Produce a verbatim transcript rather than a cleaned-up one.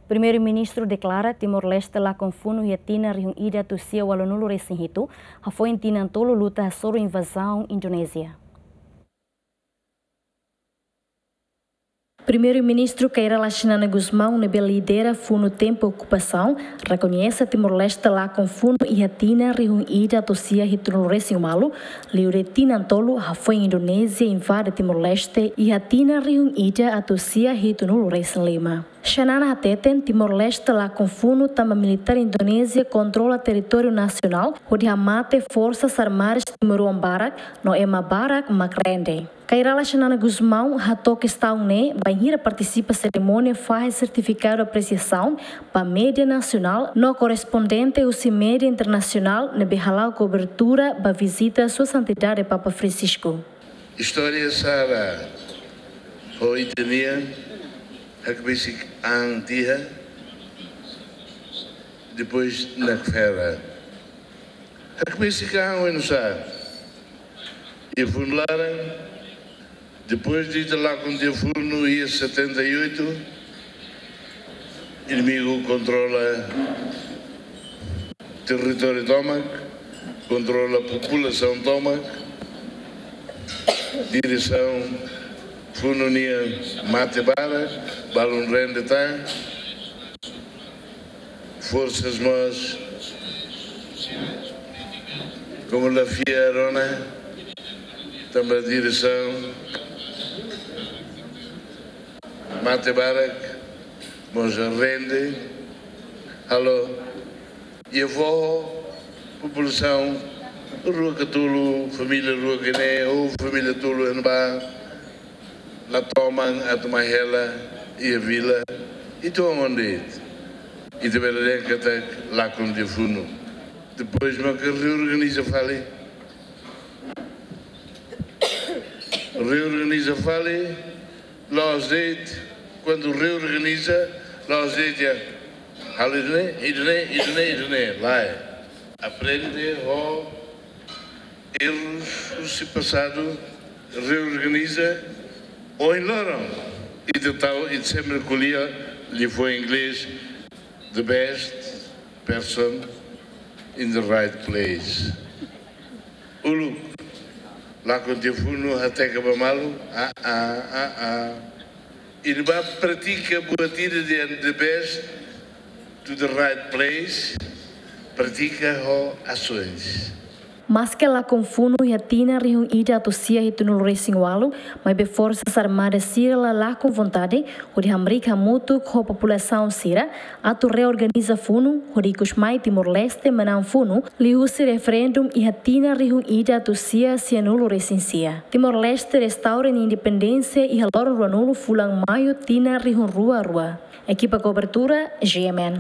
Primeiru-Ministru deklara Timor-Leste lakon funu iha tinan rihun ida atus sia ualunulu resin hitu, hafoin tinan tolu luta hasoru invazaun Indonézia. Primeiru-Ministru Kay Rala Xanana Gusmão ne'ebé lidera funu tempu okupasaun, rekoñese Timor-Leste lakon funu iha tinan rihun ida atus sia hitunulu resin ualu, liu tinan tolu hafoin Indonézia invade Timor-Leste iha tinan rihun ida atus sia hitunulu resin lima. Xanana hateten Timor-Leste lakon funu tanba militár Indonézia kontrola territóriu nasionál hodi hamate forsas armadas timoroan barak no ema barak mak rende. Kay Rala Xanana Gusmão hato'o kestaun ne'e bainhira partisipa serimónia fahe sertifikadu apresiasaun ba média nasionál no korrespondente husi média internasionál ne'ebé hala'o kobertura ba vizita Sua Santidade Papa Francisco. Istória sala ho ita-nian hakbesik an tiha, depois nakfera. Hakbesik an oinsá? Iha funu laran, depois de ita lakon tiha funu iha setenta e oito, inimigu kontrola territóriu tomak, kontrola populasaun tomak, diresaun funu nian mate barak, balun rende tan, forsas mós, komu la fiar ona, tanba diresaun mate barak, mós rende, halo, iha foho, populasaun, rua ka tolu, família rua ka neen, ou família tolu iha ne'ebá, la toman atu mai hela iha vila, ita oan de'it. Ita bele dehan katak lakon tiha funu. Depois maka reorganiza fali. Reorganiza fali, la'ós de'it, kuandu reorganiza, la'ós de'it ya. Halo ida-ne'e, ida-ne'e, ida-ne'e, ida-ne'e, lae. Aprende ho errus husi pasadu, reorganiza, ohin loron, ita tau, ita sempre ko'alia, liafuan inglés, the best person in the right place. Uluk, lakon tiha funu hateke ba malu, ah, ah, ah, ah. Ita bá pratika buat ida dehan the best to the right place, pratika ho asoens. Maske lakon funu iha tinan rihun ida atus sia hitunulu resin ualu, maibé forsas armadas sira la lakon vontade hodi hamriik hamutuk ho populasaun sira atu reorganiza funu hodi ikus mai Timor-Leste manán funu liuhusi referendum iha tinan rihun ida atus sia sianulu resin sia. Timor-Leste restaura nia independénsia iha loron ruanulu fulan Maiu tinan rihun rua rua. Ekipa kobertura, G M N.